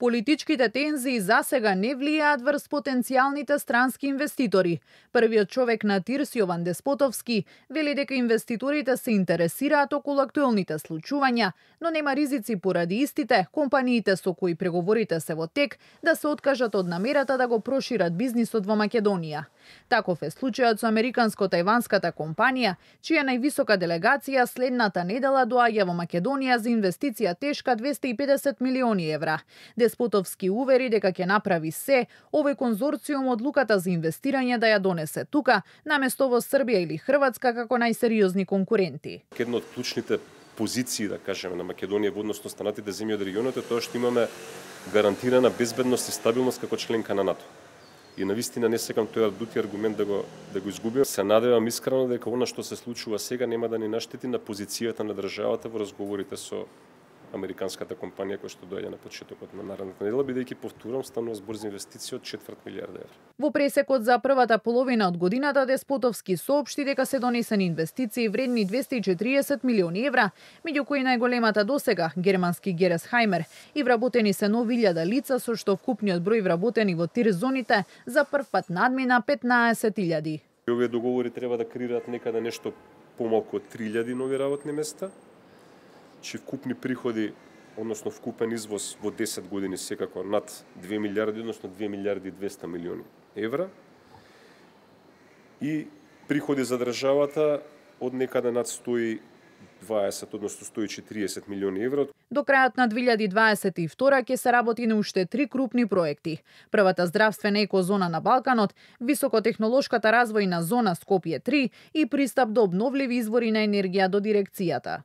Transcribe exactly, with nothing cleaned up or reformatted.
Политичките тензии засега не влијаат врз потенцијалните странски инвеститори. Првиот човек на ТИРС, Јован Деспотовски, вели дека инвеститорите се интересираат околу актуелните случувања, но нема ризици поради истите, компаниите со кои преговорите се во тек да се откажат од намерата да го прошират бизнисот во Македонија. Таков е случајот со американско-тајванската компанија, чија највисока делегација следната недела доаѓа во Македонија за инвестиција тешка двесте и педесет милиони евра. Деспотовски увери дека ќе направи се овој конзорциум одлуката за инвестирање да ја донесе тука, наместо во Србија или Хрватска како најсериозни конкуренти. Една од клучните позиции, да кажеме, на Македонија во однос на останатите земји од регионот е тоа што имаме гарантирана безбедност и стабилност како членка на НАТО. И навистина не секам тој дути аргумент да го да го изгубим. Се надевам искрено дека она што се случува сега нема да ни наштети на позицијата на државата во разговорите со американската компанија која што доаѓа на почетокот на наредната недела, бидејќи повторам станува збор за инвестиција од четврт милијарда евра. Во пресекот за првата половина од годината Деспотовски соопшти дека се донесени инвестиции вредни двесте и четириесет милиони евра, меѓу кои најголемата досега германски Гересхаймер, и вработени се нови илјада лица, со што вкупниот број вработени во ТИРС зоните за прв пат надмина петнаесет илјади. Овие договори треба да креираат некаде нешто помалку од три илјади нови работни места, че вкупни приходи, односно вкупен извоз во десет години секако над две милијарди, односно две милијарди и двесте милиони евра. И приходи за државата од некаде над сто и дваесет, односно сто и четириесет милиони евра. До крајот на две илјади дваесет и втора ќе се работи на уште три крупни проекти. Првата здравствена екозона на Балканот, високотехнолошката развојна зона Скопје три и пристап до обновливи извори на енергија до дирекцијата.